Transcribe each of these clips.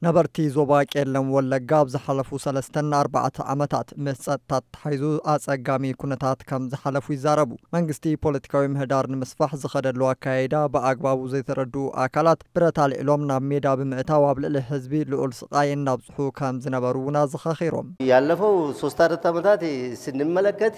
ነበርቲ ዞባ ቄለም ወለጋ ኣብ ዝሓለፉ ሰለስተን ኣርባዕተ ዓመታት ምስ ጸጥታ ተታሒዙ ኣጸጋሚ ኩነታት ከም ዝሓለፉ ይዛረቡ። መንግስቲ ፖለቲካዊ ምህዳር ንምስፋሕ ዝኸደሉ ኣካይዳ ብኣግባቡ ዘይተረድኡ ኣካላት ብረት ኣልዒሎም ናብ ሜዳ ብምእታው ኣብ ልዕሊ ህዝቢ ልዑል ስቓይ እናብጽሑ ከም ዝነበሩ እውን ኣዘኻኺሮም። ያለፈው ሶስት አራት ዓመታት ስንመለከት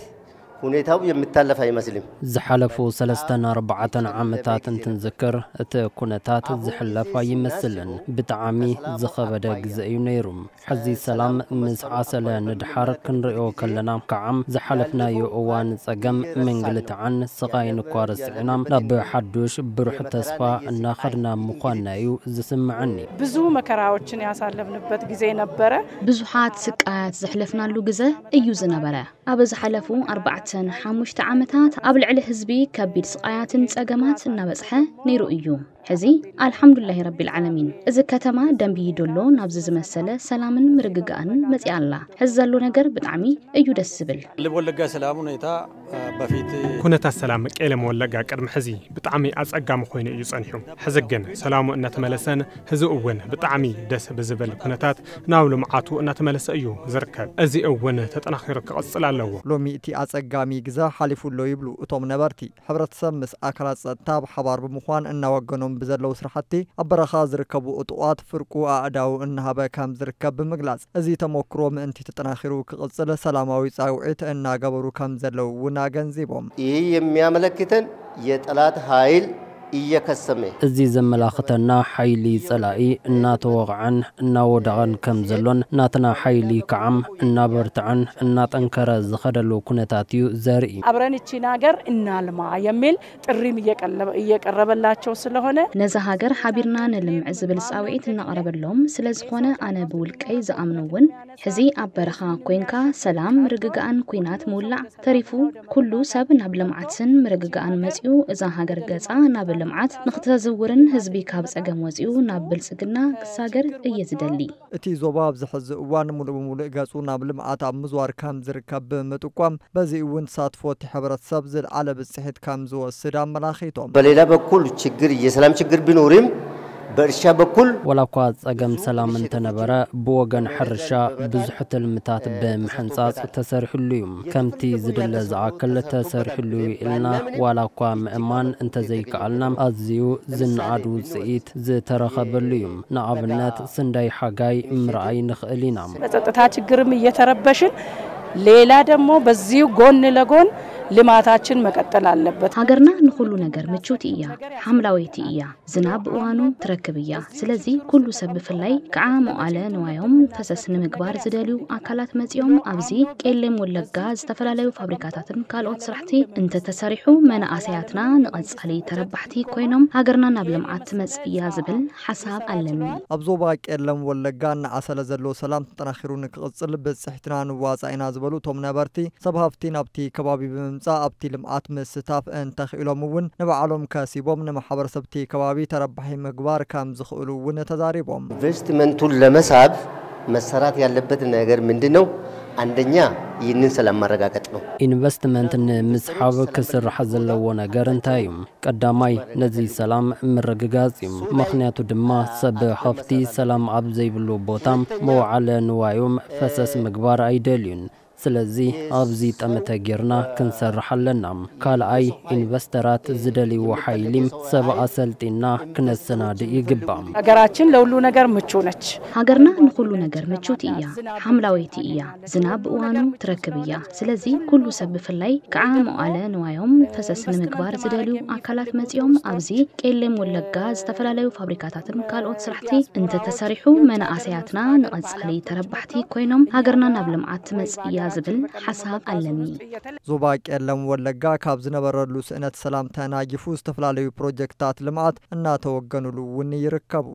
ሁኔታው የሚታለፍ አይመስልም። ዝሓለፉ ሰለስተን ኣርባዕተን ዓመታት እንትንዝክር እቲ ኩነታት ዝሕለፍ ኣይመስልን። ብጣዕሚ ዝኸበደ ግዘ እዩ ነይሩ። ሕዚ ሰላም ምስ ዓሰለ ንድሓር ክንርእዮ ከለና ከዓ ዝሓለፍናዮ እዋን ጸገም ምንግልታዕን ስቓይን እኳ ረሲዕና ናብ ሓዱሽ ብሩሕ ተስፋ እናኸድና ምዃንና እዩ ዝስምዐኒ። ብዙ መከራዎችን ያሳለፍንበት ጊዜ ነበረ። ብዙሓት ስቃያት ዘሕለፍናሉ ግዘ እዩ ዝነበረ። ኣብ ዝሓለፉ ኣርባዕተን ሓሙሽተ ዓመታት ኣብ ልዕሊ ህዝቢ ከቢድ ስቓያትን ጸገማት እናበጽሐ ነይሩ እዩ። ሕዚ ኣልሓምዱላሂ ረቢል ዓለሚን እዚ ከተማ ደንብይ ዶሎ ናብዚ ዝመሰለ ሰላምን ምርግጋእን መጺኣ ኣላ። ሕዚ ዘሎ ነገር ብጣዕሚ እዩ ደስ ዝብል። ልብ ወለጋ ሰላም ሁኔታ በፊት ኩነታት ሰላም ቄለም ወለጋ ቅድሚ ሕዚ ብጣዕሚ ኣጸጋሚ ኮይኑ እዩ ጸኒሑ። ሕዚ ግን ሰላሙ እናተመለሰን ህዝቢ እውን ብጣዕሚ ደስ ብዝብል ኩነታት ናብ ልምዓቱ እናተመለሰ እዩ ዝርከብ። እዚ እውን ተጠናኺሩ ክቕጽል ኣለዎ። ሎሚ እቲ ኣጸጋሚ ግዘ ሓሊፉ ኣሎ ይብሉ እቶም ነበርቲ። ሕብረተሰብ ምስ ኣካላት ጸጥታ ብሓባር ብምዃን እናወገኖም ብዘለዉ ስራሕቲ ኣብ በረኻ ዝርከቡ እጡቓት ፍርቁ ኣእዳው እናሃበ ከም ዝርከብ ብምግላጽ፣ እዚ ተሞክሮ ምእንቲ ተጠናኺሩ ክቕጽል ሰላማዊ ጻውዒት እናገበሩ ከም ዘለዉ እውን ኣገንዚቦም። ይህ የሚያመለክተን የጠላት ኃይል እየከሰመ እዚ ዘመላኽተና ሓይሊ ጸላኢ እናተወቕዐን እናወደቐን ከም ዘሎን ናትና ሓይሊ ከዓም እናበርትዐን እናጠንከረ ዝኸደሉ ኩነታት እዩ ዘርኢ። አብረን እቺን ሀገር እናልማ የሚል ጥሪም እየቀለበ- እየቀረበላቸው ስለሆነ ነዛ ሃገር ሓቢርና ንልምዕ ዝብል ጻውዒት እናቐረበሎም ስለ ዝኾነ ኣነ ብውልቀይ ዝኣምኖ እውን ሕዚ ኣብ በረኻ ኮይንካ ሰላም ምርግጋእን ኲናት ምውላዕ ተሪፉ ኩሉ ሰብ ናብ ልምዓትን ምርግጋእን መጺኡ እዛ ሃገር ገጻ ናብ ልምዓት ንክተዝውርን ህዝቢ ካብ ጸገም ወጺኡ ናብ ብልጽግና ክሳገር እየ ዝደሊ። እቲ ዞባ ኣብዚ ሕዚ እዋን ሙሉእ ብሙሉእ ገጹ ናብ ልምዓት ኣብ ምዝዋር ከም ዝርከብ ብምጥቋም በዚ እውን ተሳትፎ እቲ ሕብረተሰብ ዝለዓለ ብጽሒት ከም ዝወስድ ኣመላኺቶም። በሌላ በኩል ችግር የሰላም ችግር ቢኖርም በእርሻ በኩል ወላ እኳ ጸገም ሰላም እንተነበረ ብወገን ሕርሻ ብዙሕ ትልምታት ብምሕንጻጽ ተሰሪሕሉ እዩ። ከምቲ ዝድለ ዝኣክል ተሰሪሕሉ እዩ ኢልና ዋላ እኳ ምእማን እንተዘይከኣልና ኣዝዩ ዝነኣድ ውጽኢት ዝተረኸበሉ እዩ። ንኣብነት ስንዳይ ሓጋይ ምርኣይ ንኽእል ኢና። በጸጥታ ችግርም እየተረበሽን ሌላ ደግሞ በዚሁ ጎን ለጎን ልማታችን መቀጠል አለበት። ሃገርና ንኹሉ ነገር ምችውቲ እያ፣ ሓምላወይቲ እያ፣ ዝናብ ብእዋኑ ትረክብ እያ። ስለዚ ኩሉ ሰብ ብፍላይ ከዓ መዋለ ንዋዮም ፈሰስ ንምግባር ዝደልዩ ኣካላት መጺኦም ኣብዚ ቄሌም ወለጋ ዝተፈላለዩ ፋብሪካታትን ካልኦት ስራሕቲ እንተተሰሪሑ መናእሰያትና ንቐጻሊ ተረባሕቲ ኮይኖም ሃገርና ናብ ልምዓት ትመጽእ እያ ዝብል ሓሳብ ኣለኒ። ኣብ ዞባ ቄለም ወለጋ እናዓሰለ ዘሎ ሰላም ተጠናኺሩ ንክቕጽል ብጽሕትና ንዋጻእ ኢና ዝበሉ እቶም ነበርቲ፣ ሰብ ሃፍቲ ናብቲ ከባቢ ብምምጻእ ኣብቲ ልምዓት ምስታፍ እንተኽኢሎም እውን ንባዕሎም ከሲቦም ንማሕበረሰብ እቲ ከባቢ ተረባሒ ምግባር ከም ዝኽእሉ እውን ተዛሪቦም። ኢንቨስትመንቱን ለመሳብ መሰራት ያለበት ነገር ምንድን ነው? አንደኛ ይህንን ሰላም ማረጋገጥ ነው። ኢንቨስትመንት ንምስሓብ ክስራሕ ዘለዎ ነገር እንታይ እዩ? ቀዳማይ ነዚ ሰላም ምርግጋጽ እዩ። ምኽንያቱ ድማ ሰብ ሃፍቲ ሰላም ኣብ ዘይብሉ ቦታ መዋዕለ ንዋዮም ፈሰስ ምግባር ኣይደልዩን። ስለዚ ኣብዚ ጠመተ ጌርና ክንሰርሕ ኣለና። ካልኣይ ኢንቨስተራት ዝደልይዎ ሓይሊ ሰብ ኣሰልጢና ክነሰናድእ ይግባእ። ሀገራችን ለሁሉ ነገር ምቹ ነች። ሃገርና ንኹሉ ነገር ምችውቲ እያ፣ ሓምላወይቲ እያ፣ ዝናብ ብእዋኑ ትረክብ እያ። ስለዚ ኩሉ ሰብ ብፍላይ ከዓ መዋለ ንዋዮም ፈሰስ ንምግባር ዝደልዩ ኣካላት መጺኦም ኣብዚ ቄሌም ወለጋ ዝተፈላለዩ ፋብሪካታትን ካልኦት ስራሕቲ እንተተሰሪሑ መናእሰያትና ንቐጻሊ ተረባሕቲ ኮይኖም ሃገርና ናብ ልምዓት ትመጽእ እያ ዝብል ሓሳብ ኣለኒ። ዞባ ቄለም ወለጋ ካብ ዝነበረሉ ስእነት ሰላም ተናጊፉ ዝተፈላለዩ ፕሮጀክታት ልምዓት እናተወገኑሉ እውን ይርከቡ።